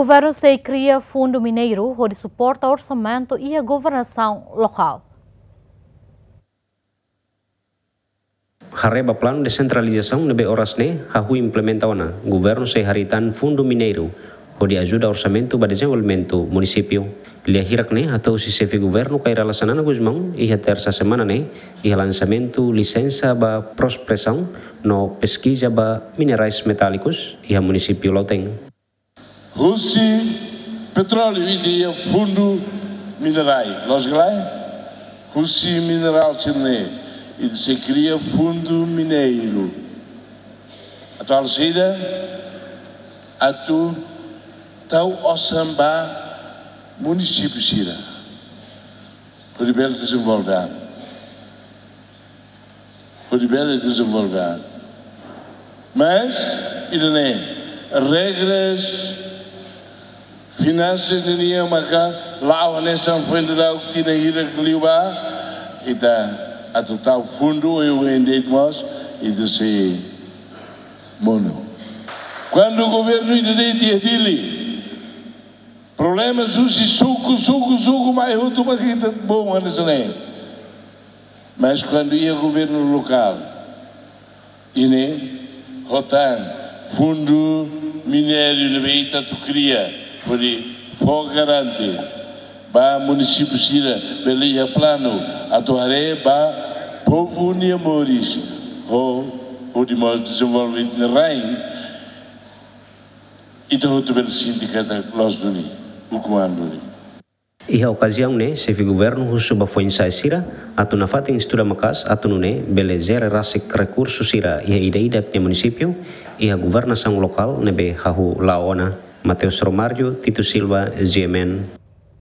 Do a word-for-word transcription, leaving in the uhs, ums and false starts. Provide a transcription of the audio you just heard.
Governu sei kria fundu mineiru hodi suporta orsamentu iha governasaun lokál. Haree ba planu desentralizasaun ne'ebé oras ne'e hahú implementa ona, governu sei harii tan fundu mineiru hodi ajuda orsamentu ba dezenvolvimentu munisípiu. Lia hirak ne'e hato'o husi xefe governu Kay Rala Xanana Gusmão iha tersa semana ne'e iha lansamentu lisensa ba prospesaun no peskiza ba minerais metálikus iha munisípiu Lautém. Husi petróleu ita iha fundu minerál, loos ka lae? Husi minerál sira-ne'e ita sei kria fundu mineiru. Atu halo saida? Atu tau osan ba munisípiu sira hodi bele dezenvolve an. Hodi bele dezenvolve an. Mas ida-ne'e, regras finansas nian maka la'o hanesan foin dadauk tinan hirak liubá, ita atu tau fundu oioin de'it mós, ita sei monu. Kuandu governu ida de'it iha Dili, problema husi suku, suku, suku mai hotu maka ita bom hanesan ne'e. Mas kuandu iha governu lokál, ida-ne'e ho tan fundu mineiru ne'ebé ita atu kria, hodi fó garante ba munisípiu sira bele iha planu atu haree ba povu nia moris, ho, hodi mós dezenvolve ita-nia rain, ita hotu bele sente katak loos duni, ukun-an duni. Iha okaziaun ne'e, xefe governu husu ba foin-sa'e sira atu nafatin estuda maka'as atu nune'e bele jere rasik rekursu sira iha ida-idak nia munisípiu iha governasaun lokál ne'ebé hahú la'o ona. Mateus Romário, Tito Silva, G M N.